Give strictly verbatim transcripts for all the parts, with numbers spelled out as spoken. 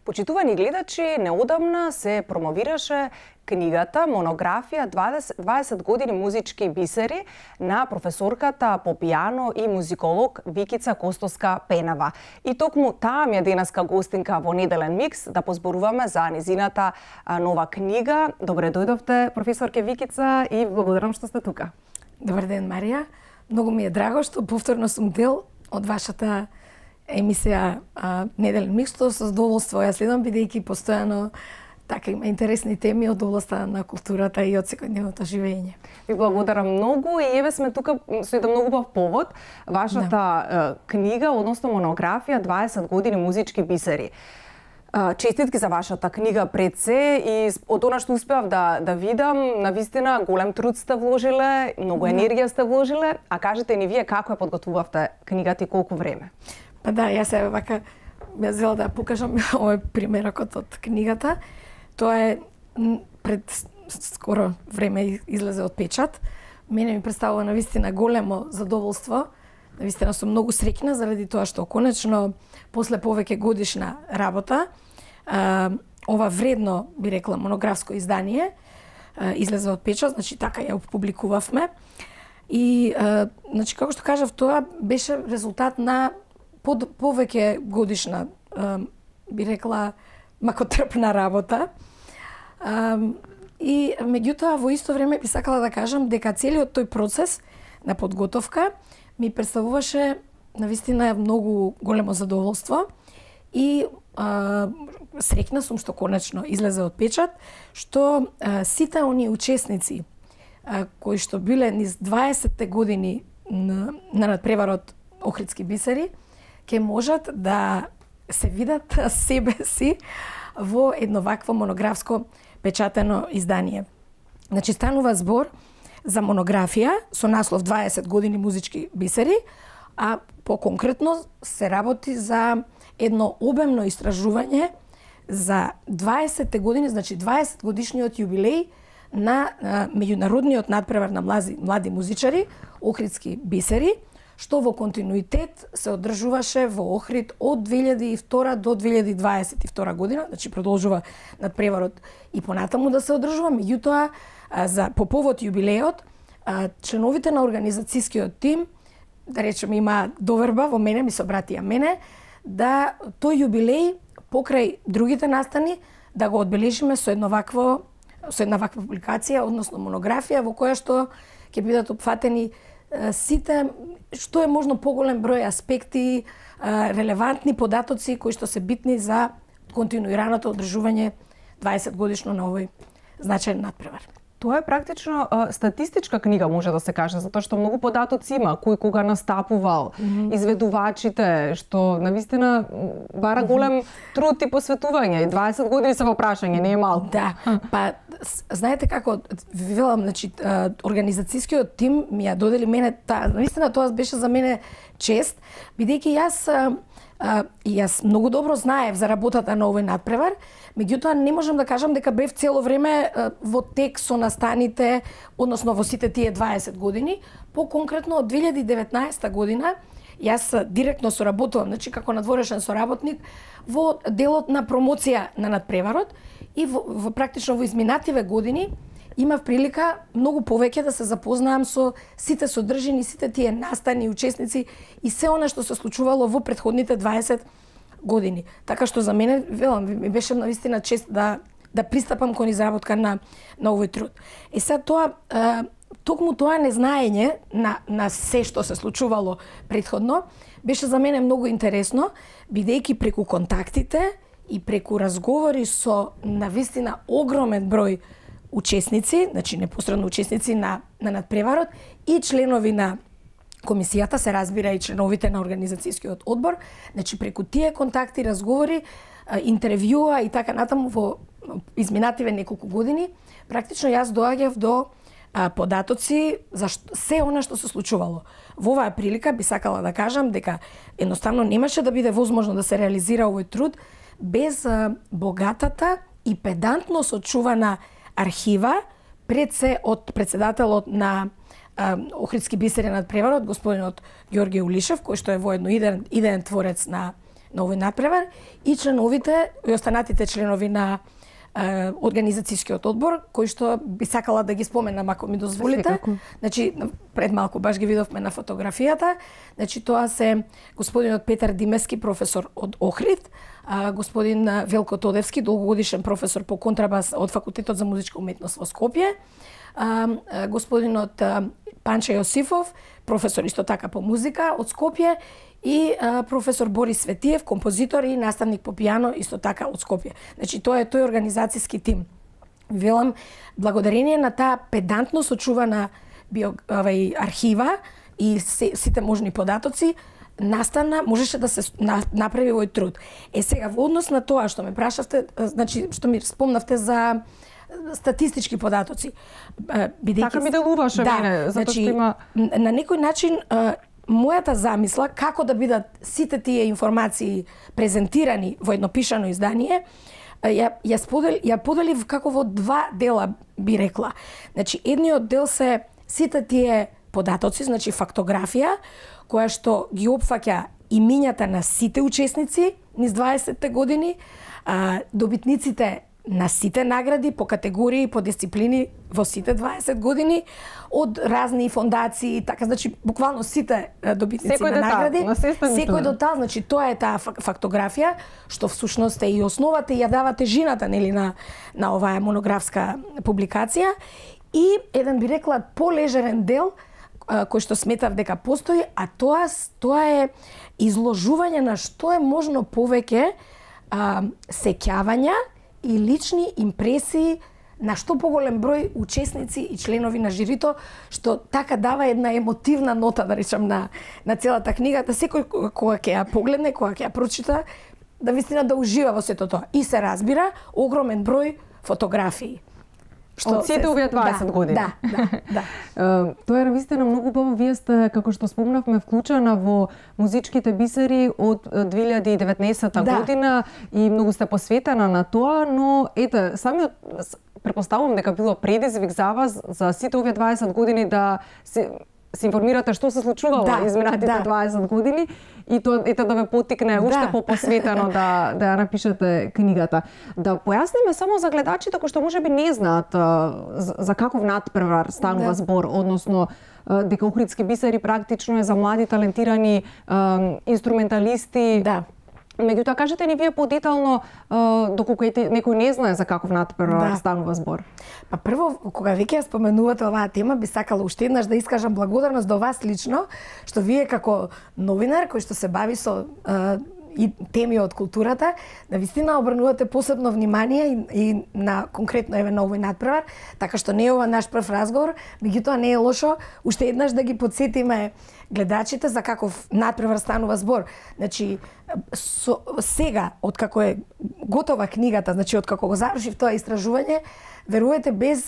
Почитувани гледачи, неодамна се промовираше книгата Монографија дваесет години музички бисери на професорката по пијано и музиколог Викица Костоска-Пенава. И токму таа ми е денеска гостинка во Неделен микс да позборуваме за низината нова книга. Добре дојдовте, професорке Викица, и благодарам што сте тука. Добар ден, Марија. Многу ми е драго што повторно сум дел од вашата емисија а, Неделен микс, што со задоволство ја следам, бидејќи постојано така има интересни теми од областа на културата и од секојдневното живење. Ви благодарам многу и еве сме тука со еден многу убав повод, вашата да. книга, односно монографија дваесет години музички бисери. Честитки за вашата книга пред се и од она што успеав да да видам, навистина голем труд сте вложиле, многу енергија сте вложиле, а кажете ни вие како ја подготвувавте книгата и колку време? Па да, јас се вака ја зела да покажам овој примерокот од книгата. Тоа е пред скоро време излезе од печат. Мене ми представува навистина големо задоволство. Навистина сум многу среќна заради тоа што конечно после повеќе годишна работа ова вредно, би рекла, монографско издание излезе од печат, значи така ја публикувавме. И значи како што кажав, тоа беше резултат на под повеќе годишна, би рекла, макотрпна работа. И меѓутоа во исто време би сакала да кажам дека целиот тој процес на подготовка ми представуваше навистина многу големо задоволство и а, среќна сум што конечно излезе од печат, што а, сите оние учесници а, кои што биле низ дваесетте години на, на надпреварот Охридски бисери, ќе можат да се видат себе си во едно вакво монографско печатено издание. Значи станува збор за монографија со наслов дваесет години музички бисери, а по-конкретно се работи за едно обемно истражување за дваесетте години, значи дваесет годишниот јубилеј на меѓународниот надпревар на млади, млади музичари Охридски бисери, што во континуитет се одржуваше во Охрид од две илјади и втора до две илјади дваесет и втора година, значи продолжува надпреварот и понатаму да се одржува, меѓутоа за по повод јубилеот членовите на организацијскиот тим, да речеме, има доверба во мене, ми се обратија мене, да тој јубилеј покрај другите настани да го одбележиме со едно вакво со една ваква публикација, односно монографија во која што ќе бидат опфатени сите што е можно поголем број аспекти, релевантни податоци кои што се битни за континуираното одржување дваесет годишно на овој значаен надпревар. Тоа е практично а, статистичка книга, може да се каже, затоа што многу податоци има, кој кога настапувал, mm -hmm. изведувачите, што навистина бара голем труд и посветување. И дваесет години се во прашање, не е малку. Да, па знаете како, велам, значи организацијскиот тим ми ја додели мене, та, навистина тоа беше за мене чест, бидејќи јас а, и јас многу добро знаев за работата на овој надпревар, меѓутоа не можам да кажам дека бев цело време а, во тек со настаните, односно во сите тие дваесет години. По-конкретно од две илјади и деветнаесета година јас директно соработувам, значи како надворешен соработник во делот на промоција на надпреварот и во, во практично во изминативе години имав прилика многу повеќе да се запознаам со сите содржини, сите тие настани, учесници и се она што се случувало во претходните дваесет години. Така што за мене, велам, ми беше навистина чест да да пристапам кон изработка на на овој труд. И сега тоа е, токму тоа незнаење на на се што се случувало претходно беше за мене многу интересно, бидејќи преку контактите и преку разговори со навистина огромен број учесници, значи непосредно учесници на на надпреварот и членови на комисијата, се разбира и членовите на организацијскиот одбор, значи преку тие контакти, разговори, интервјуа и така натаму во изминативе неколку години, практично јас доаѓав до а, податоци за што, се она што се случувало. Во оваа прилика би сакала да кажам дека едноставно немаше да биде возможно да се реализира овој труд без а, богатата и педантно сочувана архива, пред се од председателот на а, Охридски бисери над преварот, господинот Ѓорѓе Улишев, кој што е воедно идеен, идеен творец на, на овој надпревар, и членовите, и останатите членови на а, организацијскиот одбор, кој што би сакала да ги споменам, ако ми дозволите. Значи, пред малку баш ги видовме на фотографијата. Значи, тоа се господинот Петар Димески, професор од Охрид, а, господин Велко Тодевски, долгогодишен професор по контрабас од Факултетот за музичка уметност во Скопје, а, а, господинот а, Панче Јосифов, професор исто така по музика од Скопје, и а, професор Борис Светиев, композитор и наставник по пијано исто така од Скопје. Значи, тоа е тој организацијски тим. Велам, благодарение на таа педантно сочувана био, овај, архива и се, сите можни податоци, настана, можеше да се на, направи овој труд. Е сега, во однос на тоа што ме прашавте, значи, што ми спомнавте за статистички податоци. Бидејќи, така ми делуваше да, мене, затоа значи, што има... На некој начин, мојата замисла, како да бидат сите тие информации презентирани во едно пишано издание, ја, ја, сподел, ја поделив како во два дела, би рекла. Значи, едниот дел се сите тие податоци, значи фактографија, која што ги опфаќа имињата на сите учесници низ дваесетте години, а, добитниците на сите награди по категории, по дисциплини во сите дваесет години, од разни фондации, така, значи, буквално сите добитници секој на детал, награди. на Секој детал, значи, тоа е таа фактографија, што всушност е и основата и ја дава тежината, нели, на, на оваа монографска публикација. И еден, би рекла, полежерен дел, кој што сметав дека постои, а тоа, тоа е изложување на што е можно повеќе а, сеќавања и лични импресии на што поголем број учесници и членови на жирито, што така дава една емотивна нота, да речам, на, на целата книга, да секој кога ќе ја погледне, кога ќе ја прочита, да вистина да ужива во сето тоа. И се разбира огромен број фотографии. Што од сите овие дваесет да, години. Да, да, да. Тоа е навистина многу убаво. Вие сте, како што спомнавме, вклучена во музичките бисери од две илјади и деветнаесетта да. година и многу сте посветена на тоа, но ете, самиот претпоставувам дека било предизвик за вас за сите овие дваесет години да се се информирате што се случувало да, изминатите да. дваесет години и тоа ете да ве поттикне уште да. попосветено да да ја напишете книгата. Да појасниме само за гледачите кои што можеби не знаат за, за каков надпревар станува да. збор, односно дека Охридски бисери практично е за млади талентирани инструменталисти. Да. Меѓутоа, кажете ни вие подетално, доколку некој не знае за каков надпревар да. станува збор. Па прво, кога веќе ја споменувате оваа тема, би сакала уште еднаш да искажам благодарност до вас лично, што вие како новинар кој што се бави со а, и теми од културата, да вистина обрнувате посебно внимание и, и на конкретно еве на овој надпревар, така што не е ова наш прв разговор, меѓутоа не е лошо уште еднаш да ги потсетиме гледачите за каков надпревар станува збор. Значи, со, сега, откако е готова книгата, значи откако го завршив тоа истражување, верувате без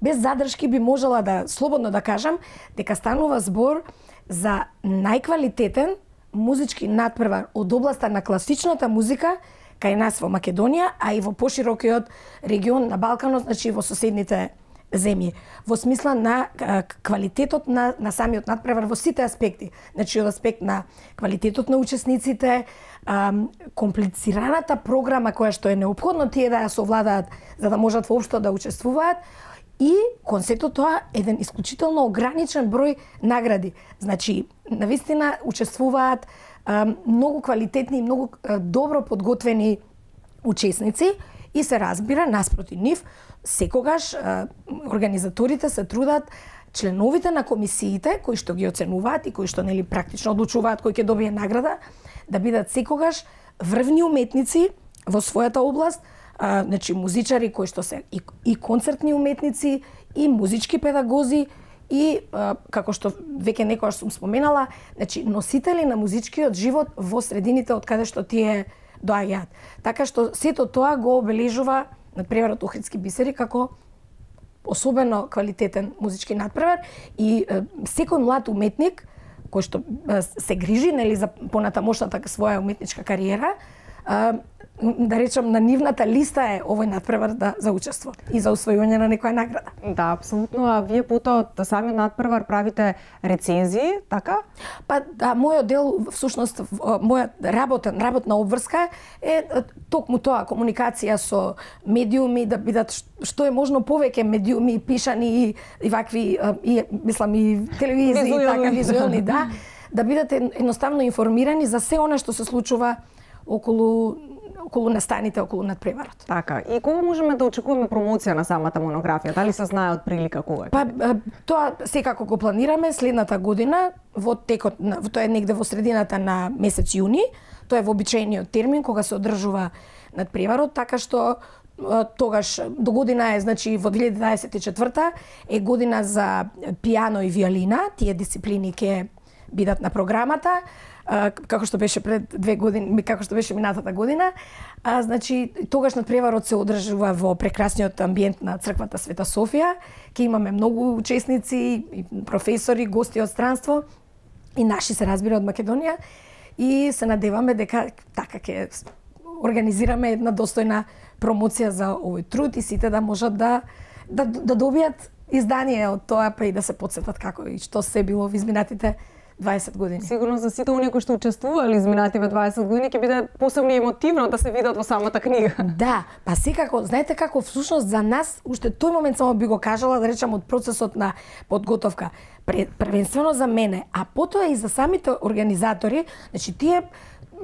без задршки би можела да слободно да кажам дека станува збор за најквалитетен музички надпревар од областа на класичната музика кај нас во Македонија, а и во поширокиот регион на Балканот, значи во соседните земји, во смисла на квалитетот на, на самиот надпревар во сите аспекти. Значи, од аспект на квалитетот на учесниците, ам, комплицираната програма која што е неопходно тие да ја совладаат за да можат воопшто да учествуваат, и кон сето тоа еден исклучително ограничен број награди. Значи, навистина учествуваат ам, многу квалитетни и многу а, добро подготвени учесници и се разбира, наспроти нив, секогаш а, организаторите се трудат членовите на комисиите кои што ги оценуваат и кои што нели практично одлучуваат кој ќе добие награда, да бидат секогаш врвни уметници во својата област, а, значи музичари кои што се и, и концертни уметници, и музички педагози, и а, како што веќе некогаш сум споменала, значи носители на музичкиот живот во средините од каде што тие доаѓаат. Така што сето тоа го обележува надпреварот Охридски бисери како особено квалитетен музички надпревар и е, секој млад уметник кој што е, се грижи нели за понатамошната своја уметничка кариера, е, да речам на нивната листа е овој надпревар да за учество и за усвојување на некоја награда. Да, апсолутно. А вие потоа од самиот надпревар правите рецензии, така? Па да, мојот дел всушност моја работен работна обврска е токму тоа, комуникација со медиуми, да бидат што е можно повеќе медиуми пишани и, и вакви и мислам и телевизии и така визуелни, да, да бидат едноставно информирани за се она што се случува околу околу настаните, околу надпреварот. Така, и кога можеме да очекуваме промоција на самата монографија? Дали се знае од прилика кога? Па тоа секако го планираме следната година, во текот на тоа е негде во средината на месец јуни. Тоа е вообичаениот термин кога се одржува надпреварот, така што тогаш до година е, значи во две илјади дваесет и четврта е година за пијано и виолина, тие дисциплини ќе бидат на програмата. Како што беше пред две години, како што беше минатата година, а, значи тогаш надпреварот се одржува во прекрасниот амбиент на црквата Света Софија. Ќе имаме многу учесници, и професори, гости од странство и наши се разбира од Македонија и се надеваме дека така ќе организираме една достојна промоција за овој труд и сите да можат да да, да добијат издание од тоа, па и да се потсетат како и што се било во изминатите дваесет години. Сигурно за сите оние кои што учествувале изминативе дваесет години ќе биде посебно емотивно да се видат во самата книга. Да, па секако, знаете како всушност за нас уште тој момент само би го кажала, да речам од процесот на подготовка, првенствено за мене, а потоа и за самите организатори, значи тие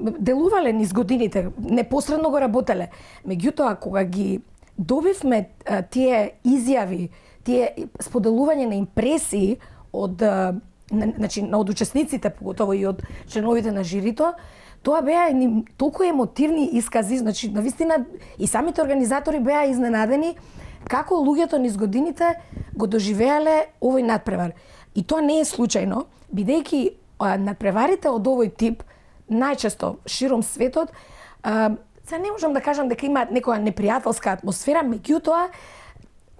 делувале низ годините, непосредно го работеле. Меѓутоа кога ги добивме тие изјави, тие споделување на импресии од значи на од учесниците, поготово и од членовите на жирито, тоа беа едни толку емотивни искази, значи навистина и самите организатори беа изненадени како луѓето низ годините го доживеале овој надпревар. И тоа не е случајно, бидејќи надпреварите од овој тип најчесто широм светот, се не можам да кажам дека имаат некоја непријателска атмосфера, меѓутоа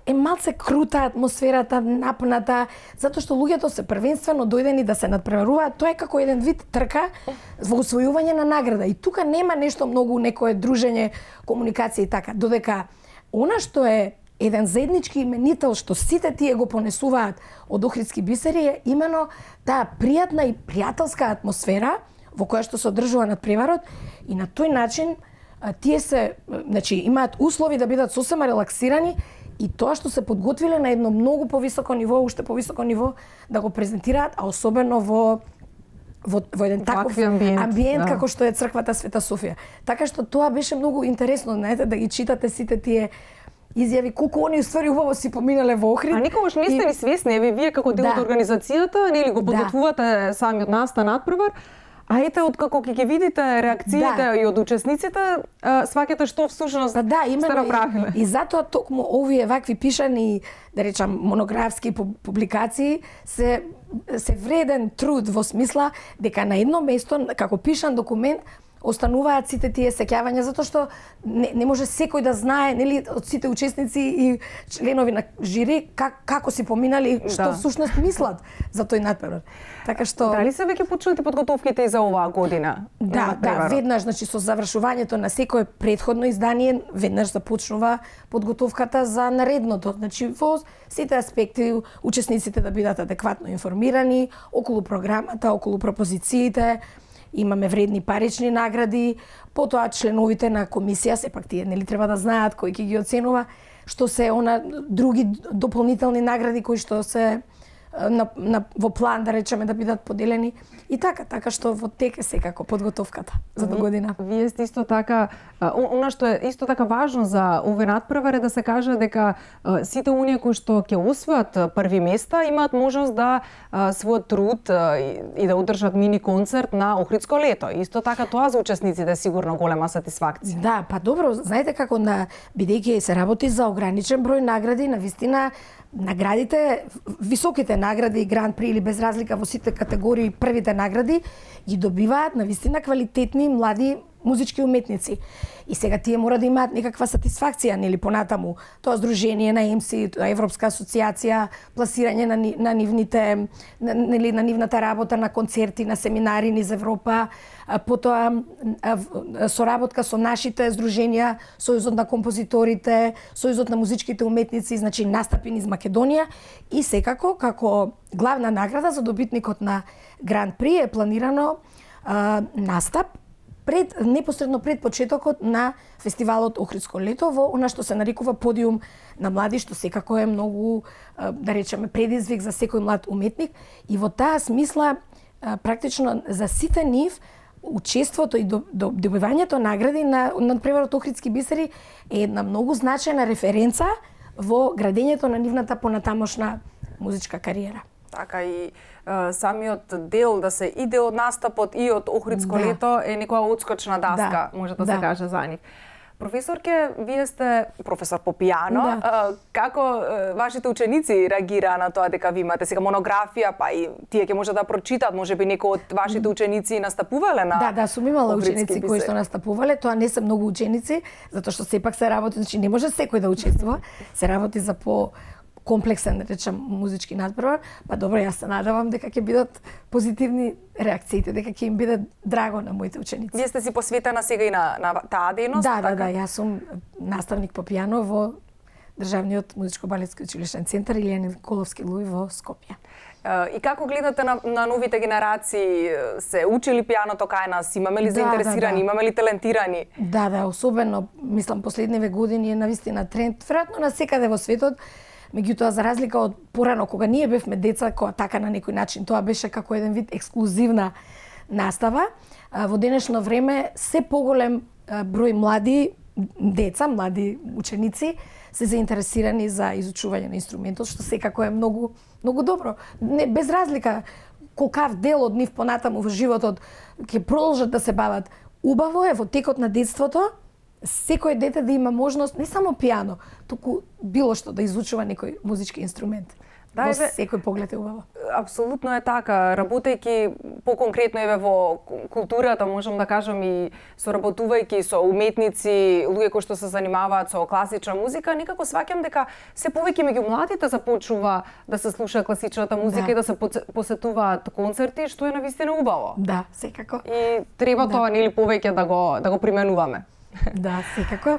е малце крута атмосферата, напната, затоа што луѓето се првенствено дојдени да се надпреваруваат, тоа е како еден вид трка во усвојување на награда. И тука нема нешто многу, некое дружење, комуникација и така, додека она што е еден заеднички именител што сите тие го понесуваат од Охридски бисери е имено таа пријатна и пријателска атмосфера во која што се одржува надпреварот и на тој начин тие се, значи, имаат услови да бидат сосема релаксирани и тоа што се подготвиле на едно многу повисоко ниво, уште повисоко ниво да го презентираат, а особено во во, во еден таков амбиент, амбиент да. како што е црквата Света Софија. Така што тоа беше многу интересно, знаете, да ги читате сите тие изјави колку они уствари убаво си поминале во Охрид. А никогаш не сте ни свесни, еве вие како дел од Да. организацијата, нели го подготвувате да. самиот настан надпревар, а ете откако ќе ги видите реакциите Да. и од учесниците, сваќате што всушност Па да, сте именно направиле. и, и затоа токму овие вакви пишани, да речам, монографски публикации се се вреден труд во смисла дека на едно место како пишан документ остануваат сите тие сеќавања, затоа што не, не може секој да знае, нели, од сите учесници и членови на жири как, како си поминали, што Да. всушност мислат за тој надпревар. Така што Дали се веќе почнати подготовките и за оваа година? на Да, да, надпреварот? веднаш, значи со завршувањето на секое претходно издание, веднаш започнува подготовката за наредното. Значи во сите аспекти учесниците да бидат адекватно информирани околу програмата, околу пропозициите. Имаме вредни парични награди, потоа членовите на комисија, сепак тие нели треба да знаат кој ќе ги оценува, што се она други дополнителни награди кои што се на, на во план да речеме да бидат поделени и така, така што во тек е секако подготовката за до година. Вие сте исто така, она што е исто така важно за овој надпревар е да се каже дека сите оние кои што ќе освојат први места имаат можност да својот труд и да одржат мини концерт на Охридско лето. Исто така тоа за учесниците е сигурно голема сатисфакција. Да, па добро, знаете како на бидејќи се работи за ограничен број награди, навистина наградите, високите награди, Гран При или без разлика во сите категории, првите награди ги добиваат навистина квалитетни млади музички уметници. И сега тие мора да имаат некаква сатисфакција, нели, понатаму. Тоа здружение на ЕМСИ, Европска асоциација, пласирање на, на нивните, нели, на нивната работа, на концерти, на семинари низ Европа, потоа соработка со нашите здруженија, Сојузот на композиторите, Сојузот на музичките уметници, значи настапи низ Македонија и секако како главна награда за добитникот на Гран При е планирано а, настап пред непосредно пред почетокот на фестивалот Охридско лето во она што се нарекува подиум на млади, што секако е многу, да речеме, предизвик за секој млад уметник и во таа смисла практично за сите нив учеството и добивањето награди на надпреварот Охридски бисери е една многу значајна референца во градењето на нивната понатамошна музичка кариера. Така и е, самиот дел да се иде од настапот и од Охридско да. лето е некоја отскочна даска, да. може да, да се каже за нив. Професорке, вие сте професор по пијано. Да. Како вашите ученици реагираа на тоа дека ви имате сега монографија, па и тие ќе може да прочитат, можеби некои од вашите ученици настапувале на Да, да, сум имала ученици кои што настапувале, тоа не се многу ученици, затоа што сепак се работи, значи не може секој да учествува, се работи за по комплексен, да речем, музички надпревар, па добро, јас се надевам дека ќе бидат позитивни реакциите, дека ќе им биде драго на моите ученици. Вие сте си посветена сега и на, на таа дејност? Да, така? да, да, јас сум наставник по пијано во Државниот музичко-балетски училишен центар Илија Николовски Луи во Скопје. И како гледате на, на новите генерации? Се учили пијаното кај нас? Имаме ли да, заинтересирани? Да, да. Имаме ли талентирани? Да, да, особено, мислам, последниве години е навистина тренд, веројатно на секаде во светот. Меѓутоа, за разлика од порано, кога ние бевме деца, кога така на некој начин тоа беше како еден вид ексклузивна настава, во денешно време се поголем број млади деца, млади ученици се заинтересирани за изучување на инструментот, што секако е многу многу добро. Не, без разлика колкав дел од нив понатаму во животот ќе продолжат да се бават. Убаво е во текот на детството секој дете да има можност не само пијано, туку било што да изучува некој музички инструмент. Да, во секој поглед е убаво. Апсолутно е така. Работејќи по-конкретно еве во културата, можам да кажам и соработувајќи со уметници, луѓе кои што се занимаваат со класична музика, некако сваќам дека се повеќе меѓу младите започнува да се слуша класичната музика да. и да се посетуваат концерти, што е навистина убаво. Да, секако. И треба да. тоа нели повеќе да го да го применуваме. Да, секако.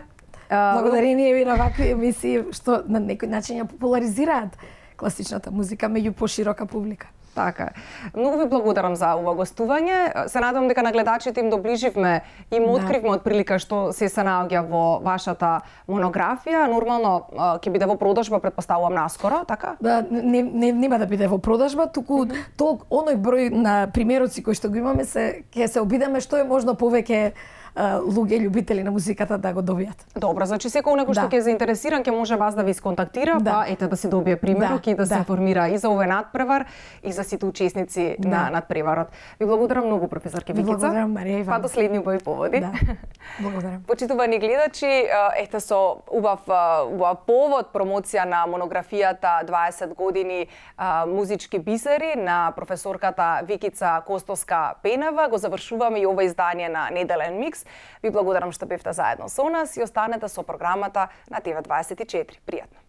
Благодарение ви на вакви емисии што на некој начин ја популаризираат класичната музика меѓу поширока публика. Така. Многу ви благодарам за ова гостување. Се надевам дека на гледачите им доближивме и им откривме да. од прилика што се се наоѓа во вашата монографија. Нормално ќе биде во продажба, претпоставувам наскоро, така? Да, не, не нема да биде во продажба, туку толк оној број на примероци кои што го имаме се ќе се обидеме што е можно повеќе луѓе љубители на музиката да го добијат. Добро, значи секој некој што ќе е заинтересиран ќе може вас да ви сконтактира, да. па ете да се добие примерок да. и да, да се информира и за овој надпревар и за сите учесници да. на надпреварот. Ви благодарам многу, професорке Викица. Благодарам, Марија Иван. Па до следни убави поводи. Да. Благодарам. Почитувани гледачи, ете со убав убав повод промоција на монографијата дваесет години музички бисери на професорката Викица Костоска-Пенева го завршуваме и ова издание на Неделен микс. Ви благодарам што бевте заедно со нас и останете со програмата на Т В дваесет и четири. Пријатно!